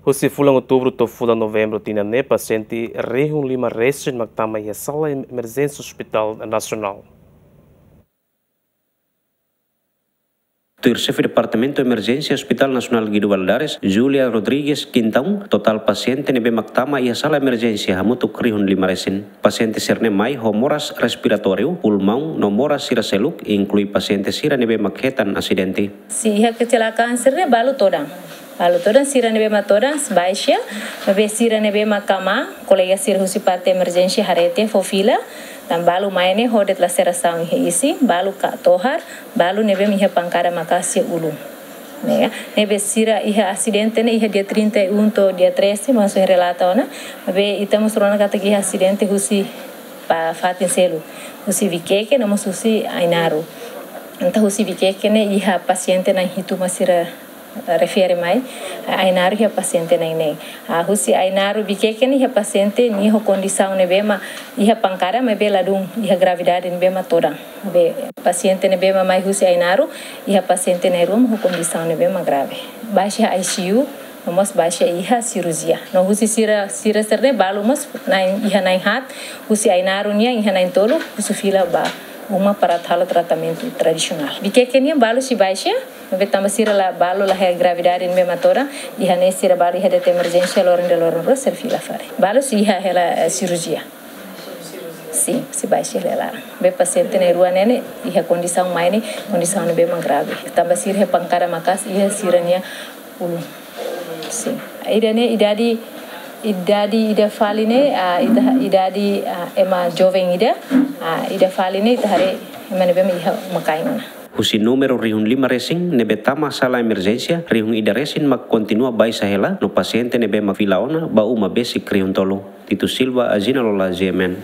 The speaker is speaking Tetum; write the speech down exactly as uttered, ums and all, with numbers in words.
Husi fulan Outubru to'o fulan Novembru tinan ne'e, pasiente rihun lima resin mak tama iha sala emerjénsia Hospital Nasionál. Tuir Xefe Departamentu Emerjénsia Hospital Nasionál Guido Valadares, Julia Rodrigues Quintão, totál pasiente ne'ebé mak tama iha sala emerjénsia hamutuk rihun lima resin. Pasiente sira-ne'e mai ho moras respiratóriu, pulmaun no moras sira seluk, inklui pasiente sira ne'ebé mak hetan asidente. Sin, iha kecelakaan sira-ne'e balu todan. Balu todan, sira ne'ebé mak todan baixa, maibé sira ne'ebé mak kama, kolega sira husi parte emerjénsia haree tiha fó fila, tan balu mai ne'e ho de'it laserasaun iha isin, balu katohar, balu ne'ebé iha pankada maka'as iha ulun. Ne'e, ne'ebé sira iha asidente ne'e iha dia trinta e um to'o dia treze, maibé relata ona, maibé ita mós rona katak iha asidente husi ba fatin seluk, husi Viqueque no mós husi Ainaro. Entaun husi Viqueque ne'e iha pasiente na'in hitu mak sira refere mai, Ainaro iha pasiente na'in neen. Ah, husi Ainaro Viqueque ne'e iha pasiente nia ho kondisaun ne'ebé mak iha pankada maibé ladún iha gravidade ne'ebé mak todan. Be pasiente ne'ebé mak mai husi Ainaro iha pasiente na'in rua mak ho kondisaun ne'ebé mak grave. Baixa iha I C U, no mós baixa iha sirurjia. No husi sira, sira sira-ne'e balu mós na'in, iha na'in haat, husi Ainaro nian iha na'in tolu, husu fila ba uma para atu halo tratamentu tradisionál. Viqueque nian balu sei baixa, maibé tanba sira la balu la iha gravidade ne'ebé mak todan, iha ne'e sira balu iha de'it emerjénsia loron ida loron rua sira fila fali. Balu sei iha hela, eh, sirurjia. Sin, sei baixa hela laran. Be pasiente na'in rua ne'e ne'e iha kondisaun mai ne'e, kondisaun ne'ebé mak grave. Tanba sira iha pankada maka'as iha sira-nia ulun. Sin. Ida-ne'e idade, idade ida fali ne'e, ah, ida, idade, ah, ema joven ida, ah, ida fali ne'e ita haree ema ne'ebé mak iha uma-kain ona. Husi númeru rihun lima resin ne'ebé tama sala emerjénsia, rihun ida resin mak kontinua baixa hela, no pasiente ne'ebé mak fila ona ba uma besik rihun tolu. Tito Silva, Agina Lola, G M N.